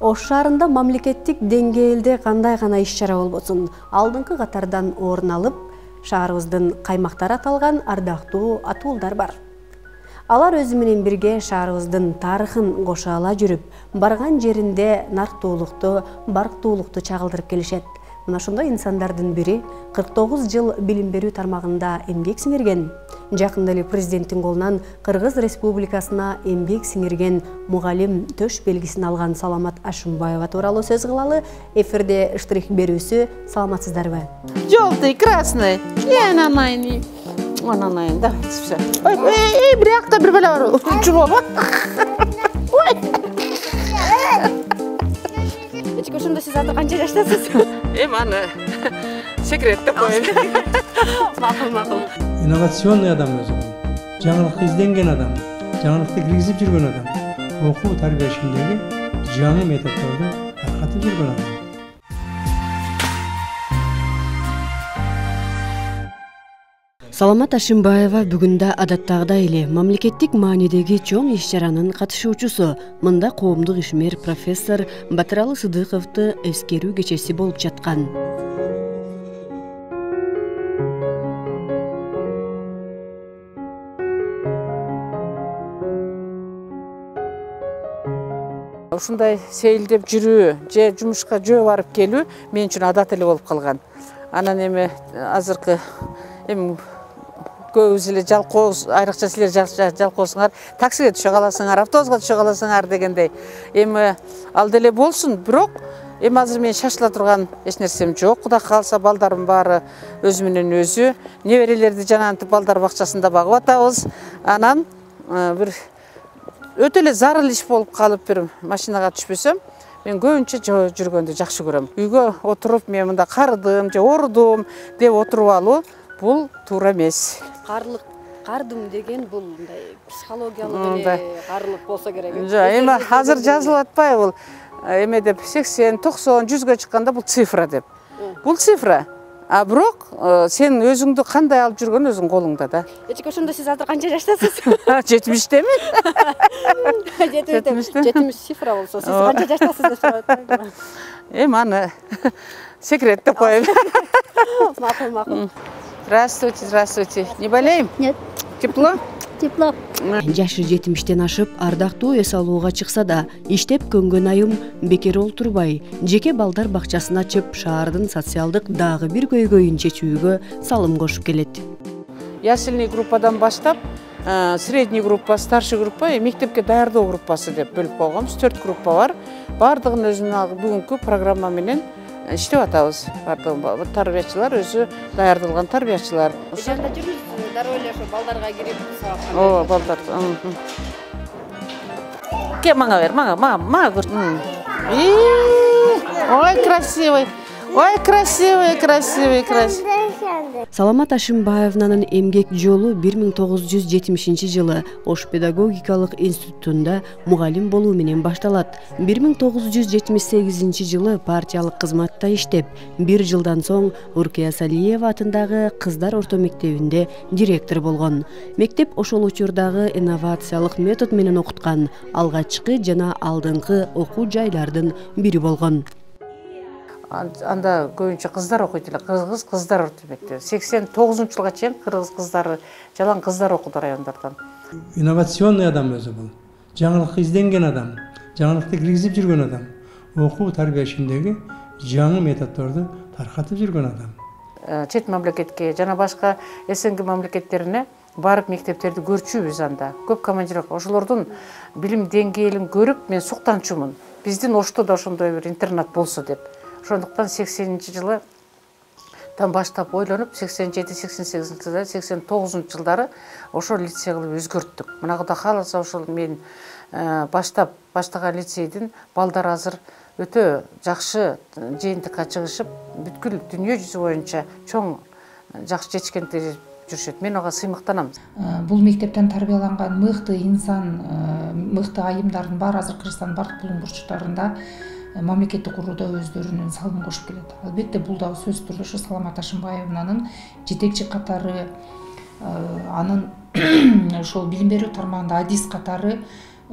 Ош шаарында мамлекеттик деңгээлде кандай гана иш-чара болбосун, алдыңкы катардан орун алып, шаарыбыздын каймактары аталган ардактуу атуулдар бар. Алар өзү менен бирге шаарыбыздын тарыхын кошо ала жүрүп, барган жеринде нарктуулукту, барктуулукту чагылдырып келишет. Мына ошондой инсандардын бири 49 жыл билим берүү тармагында эмгек сиңирген. Жакында эле президенттин колунан Кыргыз Республикасына эмгек сиңирген мугалим төш белгисин алган Саламат Ашимбаева тууралуу сөз кылалы. Эфирде штрих берүүсү. Саламатсыздарбы? Желтый, красный. Ананайный. Ананайный, да. Все. Ой, бирякта бир бала бар. Чулоба. Ой. Эчке ошондо сиз азыр канча жаштасыз? Аны секрет деп коеюн. Макул. Инновационный адам өзү. Жаңылыкты изденген адам, жаңылыкты киргизип жүргөн адам, окуу тарбия ишиндеги жаңы методдорду таркатып жүргөн адам. Саламат Ашимбаева бүгүндө адаттагыдай эле мамлекеттик маанидеги чоң иш-чаранын катышуучусу. Мында коомдук ишмер профессор Батыралы Сыдыковду эскерүү кечеси болуп жаткан. Ушундай сейилдеп жүрүү, же жумушка жөө барып келүү мен үчүн адат эле болуп калган. Анан эми азыркы көбүбүз эле жалкооз, айрыкча силер жалкоосуңар, таксиге түшө каласыңар, автобуска түшө каласыңар дегендей. Эми ал деле болсун, бирок эми азыр мен шашыла турган эч нерсем жок. Кудай кааласа балдарым баары өзү менен өзү. Неберелерди жанагынтип балдар бакчасында багып атабыз. Анан бир өтө эле зарыл иш болуп калып бир машинага түшпөсөм, мен көбүнчө жүргөндү жакшы көрөм. Үйгө отуруп мен мында карыдым же орудум деп отуруп алуу бул туура эмес. Кардым деген бул мындай психологиялык эле карлык болсо керек. Жок, эми азыр жазылып атпайбы бул эме деп 80, 90, 100гө чыкканда бул цифра деп. Бул цифра. А бирок сен өзүңдү кандай алып жүргөн өзүң колуңда да. Эчке ошондо сиз азыр канча жаштасыз? 70-темен. 70 цифра болсо, сиз канча жаштасыз деп сурап. Аны секрет деп коеюн. Макул. Здравствуйте. Не болеем? Нет. Тепло? Тепло. Жашы 70-тен ашып, ардактуу эс алууга чыкса да, иштеп көнгөн айым бекер олтурбай, жеке балдар бакчасын ачып, шаардын социалдык дагы бир көйгөйүн чечүүгө салым кошуп келет. Ясельный группадан баштап, средний группа, старший группа, мектепке даярдоо группасы деп бөлүп койгонбуз. 4 группа бар. Бардыгын өзүнүн бүгүнкү программа менен иштеп атабыз. Бардыгы тарбиячылар өзү даярдалган тарбиячылар. Ошондо жүрүңүз, дароо эле ошо балдарга кирип сабак. О, балдар. Ке мага бер, мага көр. Ой, красивый. Ой, красивый. Саламат Ашимбаевнанын эмгек жолу 1970 жылы Ош педагогикалык институтунда мугалим болуу менен башталат. 1978 жылы партиялык кызматта иштеп, 1 жылдан соң Уркия Салиева атындагы кыздар орто мектебинде директор болгон. Мектеп ошол учурдагы инновациялык метод менен окуткан, алгачкы жана алдыңкы окуу жайлардын бири болгон. Анда көбүнчө кыздар окуйт эле, кыргыз кыздар орто мектеби. 89-жылга чейин кыргыз кыздары, жалаң кыздар окуду райондардан. Инновационный адам өзү бул. Жаңылыкты изденген адам, жаңылыкты киргизип жүргөн адам, окуу тарбия ишиндеги жаңы методдорду таркатып жүргөн адам. Чет мамлекетке жана башка СНГ мамлекеттерине барып мектептерди көрчүбүз анда. Көп командировка, ошолордун билим деңгээлин көрүп мен суктанчумун. Биздин Ошто да ошондой бир интернат болсо деп. Ошондуктан 80-жылы баштап ойлонуп, 87-88 жылдары, 89 жылдары ошол лицей кылып өзгөрттүк. Мына Кудай кааласа ошол мен баштаган лицейдин балдар азыр өтө жакшы жыйынтыкка чыгышып, бүткүл дүйнө жүзү боюнча чоң жакшы жетишкендер жүрүшөт. Мен ага сыймыктанам. Бул мектептен тарбияланган мыкты инсан, мыкты айымдардын баары азыр Кыргызстандын бардык булуң бурчтарында мамлекетти курууда өздөрүнүн салымын кошуп келет. Албетте бул да сөзсүз түрдө ушу Саламат Ашимбаевнанын жетекчи катары, анын ошол билим берүү тармагында адис катары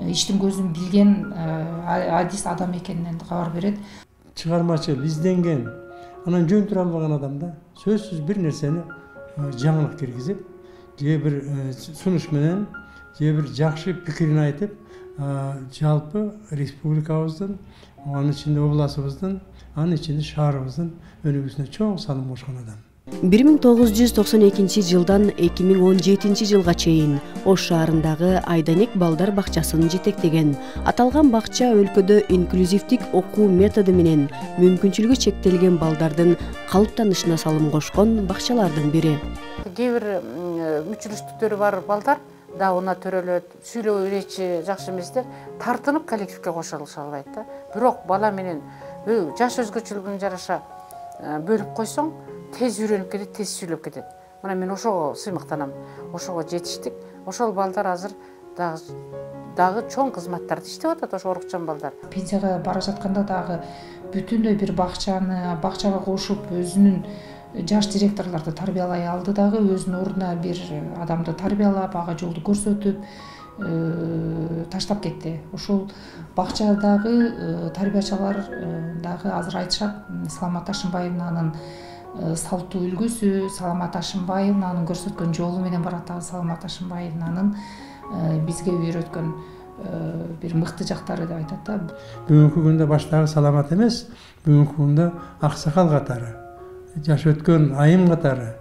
иштин көзүн билген адис адам экенинен кабар берет. Чыгармачыл, изденген, анан жөн тура албаган адамда сөзсүз бир нерсени жаңылык киргизип, же бир сунуш менен, же бир жакшы пикирин айтып, жалпы республикабыздын, анын ичинде областыбыздын, анын ичинде шаарыбыздын өнүгүүсүнө чоң салым кошкон адам. 1992 жылдан 2017 жылга чейин Ош шаарындагы Айданек балдар бакчасын жетектеген. Аталган бакча өлкөдө инклюзивдик окуу методу менен мүмкүнчүлүгү чектелген балдардын калыптанышына салым кошкон бакчалардын бири. Кээ бир мүчүлүштүктөрү бар балдар да уна төрөлөт, сүйлөө үйрөтчү жакшы эместер, тартынып коллективге кошулуша албайт да. Бирок бала менен жаш өзгөчөлүгүнө жараша бөлүп койсоң, тез үйрөнүп кетет, тез сүйлөп кетет. Мына мен ошого сыймыктанам. Ошого жетиштик. Ошол балдар азыр дагы чоң кызматтарды иштеп атат, ошо орукчан балдар. Пенсияга бара жатканда дагы бүтүндөй бир бакчага кошуп, өзүнүн жаш директорлорду тарбиялай алды дагы, өзүнүн ордуна бир адамды тарбиялап, ага жолду көрсөтүп таштап кетти. Ошол бакчадагы тарбиячылар дагы азыр айтышат, Саламат Ашымбаевнын салтуу үлгүсү, Саламат Ашымбаевнын көрсөткөн жолу менен барат. Саламат Ашымбаевнын бизге үйрөткөн бир мыкты жактары деп айтат да. Бүгүнкү күндө баштагы Саламат эмес, бүгүнкү күндө аксакал катары, жаш өткөн айым катары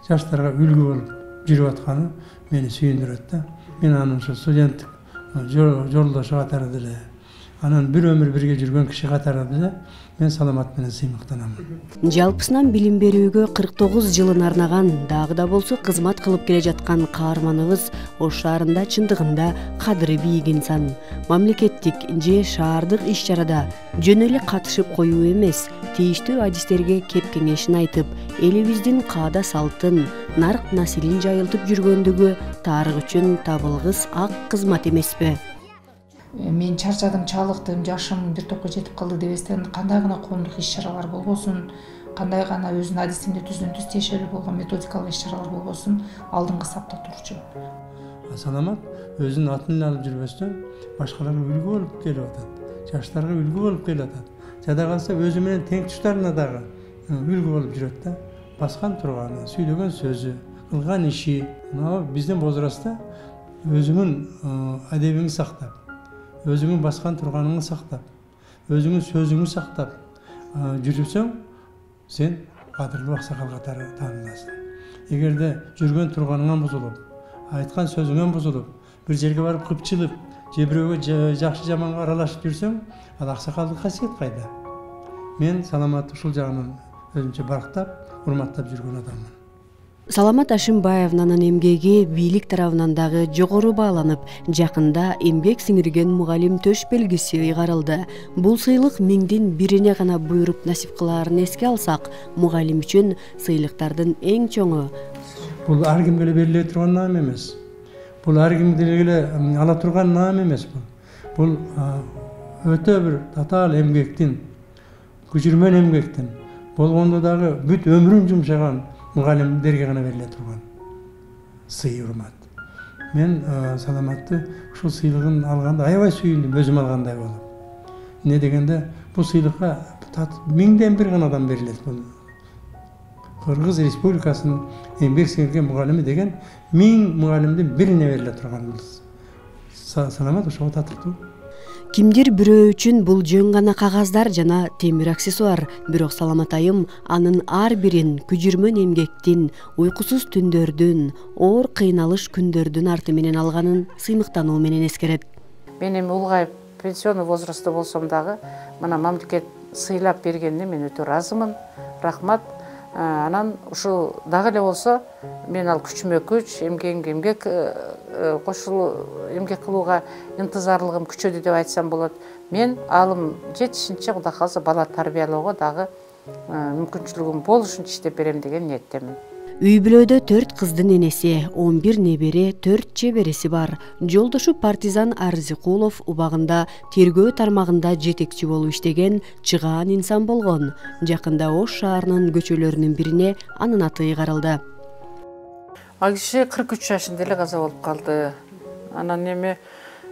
жаштарга үлгү болуп жүрүп атканы мени сүйүндүрөт да. Мен анын ошо студенттик жолдошу катары деле, анан бир өмүр бирге жүргөн киши катары деле мен Саламат менен сыймыктанам. Жалпысынан билим берүүгө 49 жылын арнаган, дагы да болсо кызмат кылып келе жаткан каарманыбыз Ош шаарында чындыгында кадыры бийик инсан. Мамлекеттик же шаардык иш-чарада жөн эле катышып коюу эмес, тийиштүү адистерге кеп кеңешин айтып, элибиздин каада салтын, нарк насилин жайылтып жүргөндүгү тарых үчүн табылгыс ак кызмат эмеспи? Мен чарчадым, чалыктым, жашым бир топко жетип калды дебестен, кандай гана коомдук иш-чаралар болбосун, кандай гана өзүнүн адисинде түздөн түз тиешелүү болгон методикалык иш-чаралар болбосун, алдыңкы сапта турчу. Саламат өзүнүн атын эле алып жүрбөстөн башкаларга үлгү болуп келип атат, жаштарга үлгү болуп келип атат. Жада калса өзү менен тең туштарына дагы үлгү болуп жүрөт да. Баскан турганы, сүйлөгөн сөзү, кылган иши, биздин возрастта өзүңүн адебиңди сактап, өзүңүн баскан турганыңды сактап, өзүңүн сөзүңдү сактап жүрүпсөң, сен кадырлуу аксакал катары тааныласың. Эгерде жүргөн турганыңан бузулуп, айткан сөзүңөн бузулуп, бир жерге барып кыпчылып, же бирөөгө жакшы жаманга аралашып жүрсөң, ал аксакалдык касиет кайда? Мен Саламатты ушул жагынан өзүмчө барктап, урматтап жүргөн адаммын. Саламат Ашымбаевнын эмгеги бийлик тарабынан дагы жогору бааланып, жакында эмгек сиңирген мугалим төш белгиси ыйгарылды. Бул сыйлык миңдин бирине гана буйруп насип кылаарын эске алсак, мугалим үчүн сыйлыктардын эң чоңу. Бул ар кимге эле бериле турган наам эмес. Бул ар кимге эле ала турган наам эмес бул. Бул өтө бир татаал эмгектин, күчүрмөн эмгектин, болгондо дагы бүт өмүрүн жумшаган мугалимдерге гана бериле турган сый, урмат. Мен Саламатты ушул сыйлыгын алганда аябай сүйүндүм, өзүм алгандай болуп. Эмне дегенде, бул сыйлыкка миңден бир гана адам берилет. Бул Кыргыз Республикасынын эмгек сиңирген мугалими деген 1000 мугалимдин бирине бериле турган бул. Саламат ошого татыктуу. Кимдир бирөө үчүн бул жөн гана кагаздар жана темир аксессуар, бирок Саламат айым анын ар бирин күжүрмөн эмгектин, уйкусуз түндөрдүн, оор кыйналыш күндөрдүн арты менен алганын сыймыктануу менен эскерет. Мен эми улгайып пенсионный возрастта болсом дагы, мына мамлекет сыйлап бергенине мен өтө ыраазымын. Рахмат. Анан ушул дагы эле болсо, мен ал күчүмө күч, эмгегимге эмгек эмгек кылууга интызарлыгым күчөдү деп айтсам болот. Мен алым жетишинче, Кудай кааласа, бала тарбиялоого дагы мүмкүнчүлүгүм болушунча иштеп берем деген ниеттемин. Үй бүлөдө 4 кыздын энеси, 11 небере, 4 чебереси бар. Жолдошу партизан Арзыкулов убагында тергөө тармагында жетекчи болуп иштеген чыгаан инсан болгон. Жакында Ош шаарынын көчөлөрүнүн бирине анын аты ыйгарылды. Ал киши 43 жашында эле каза болуп калды. Анан эми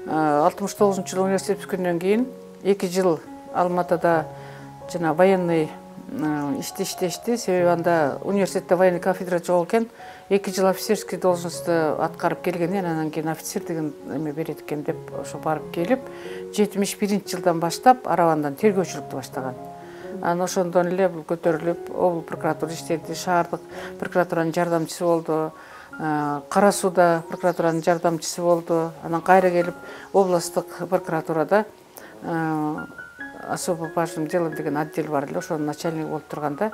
69-жылы университет бүткөндөн кийин 2 жыл Алматыда жана военный иштешти. Себеби анда университетте военный кафедра жок экен. 2 жыл офицерский должностьту аткарып келгенден анан кийин офицер деген эме берет экен деп ошо барып келип, 71-жылдан баштап Арабандан тергөөчүлүктү баштаган. Анан ошондон эле бул көтөрүлүп, облус прокуратура иштеди, шаардык прокуратуранын жардамчысы болду, Кара сууда прокуратуранын жардамчысы болду. Анан кайра келип областтык прокуратурада особо важным делом деген отдел бар эле, ошонун начальниги болуп турганда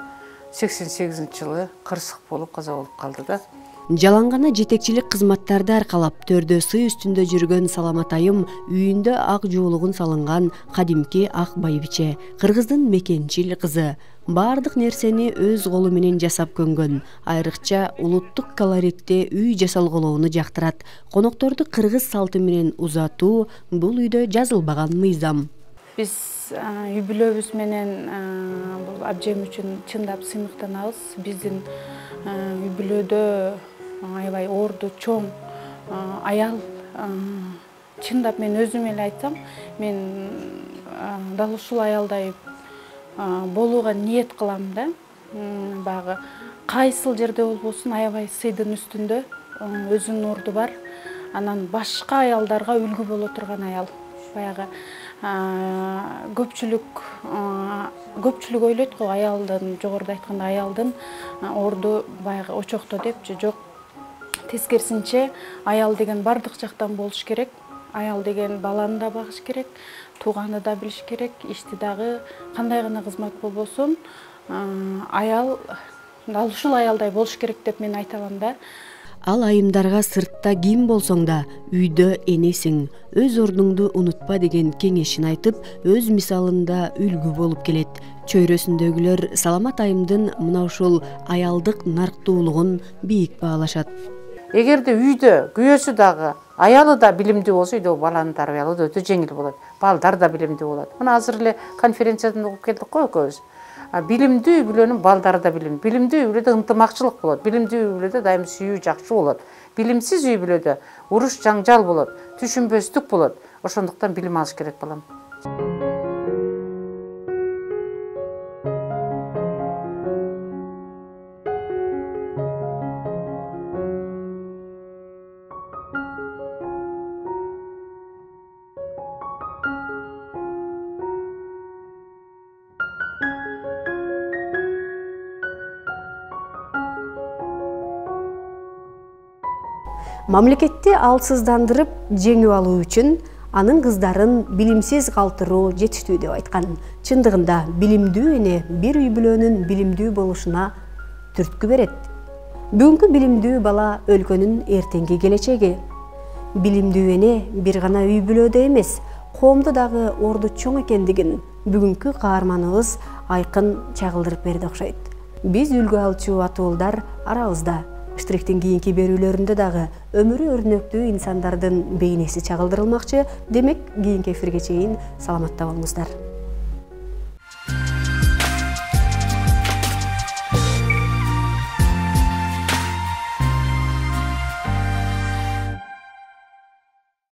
88-жылы кырсык болуп каза болуп калды да. Жалаңгана жетекчилик кызматтарды аркалап төрдө сый үстүндө жүргөн Саламат айым үйүндө ак жуулугун салынган кадимки ак байбиче, кыргыздын мекенчил кызы. Бардык нерсени өз колу менен жасап көнгөн. Айрыкча улуттук колоритте үй жасалголоону жактырат. Конокторду кыргыз салты менен узатуу бул үйдө жазылбаган мыйзам. Биз үй бүлөбүз менен бул абжем үчүн чындап сыймыктанабыз. Биздин үй бүлөдө аябай орду чоң аял. Чындап мен өзүм эле айтсам, мен дал ушул аялдай болууга ниет кылам да. Багы кайсыл жерде болбосун аябай сыйдын үстүндө өзүнүн орду бар. Анан башка аялдарга үлгү боло турган аял. Баягы көпчүлүк ойлойт го аялдын, жогоруда айтканда аялдын орду баягы очокто депчи. Жок, тескерисинче аял деген бардык жактан болуш керек. Аял деген баланы да багыш керек, тууганды да билиш керек, ишти дагы кандай гана кызмат болбосун, аял дал ушул аялдай болуш керек деп мен айта алам да. Ал айымдарга сыртта ким болсоң да үйдө энесиң, өз ордуңду унутпа деген кеңешин айтып, өз мисалында үлгү болуп келет. Чөйрөсүндөгүлөр Саламат айымдын мына ушул аялдык нарктуулугун бийик баалашат. Эгерде үйдө күйөөсү дагы, аялы да билимдүү болсо, үйдө баланы тарбиялоо да өтө жеңил болот. Балдар да билимдүү болот. Мына азыр эле конференциядан угуп келдик го экөөбүз. Билимдүү үй бүлөнүн балдары да билимдүү. Билимдүү үй бүлөдө ынтымакчылык болот. Билимдүү үй бүлөдө дайым сүйүү жакшы болот. Билимсиз үй бүлөдө уруш жаңжал болот, түшүнбөстүк болот. Ошондуктан билим алыш керек балам. Мамлекетти алсыздандырып жеңип алуу үчүн анын кыздарын билимсиз калтыруу жетиштүү деп айткан. Чындыгында билимдүү эне бир үй бүлөнүн билимдүү болушуна түрткү берет. Бүгүнкү билимдүү бала өлкөнүн эртеңки келечеги. Билимдүү эне бир гана үй бүлөдө эмес, коомдо дагы орду чоң экендигин бүгүнкү каарманыбыз айкын чагылдырып берди окшойт. Биз үлгү алчу атуулдар арабызда. Штрихтин кийинки берүүлөрүндө дагы өмүрү өрнөктүү инсандардын бейнеси чагылдырылмакчы. Демек, кийинки эфирге чейин саламатта болуңуздар.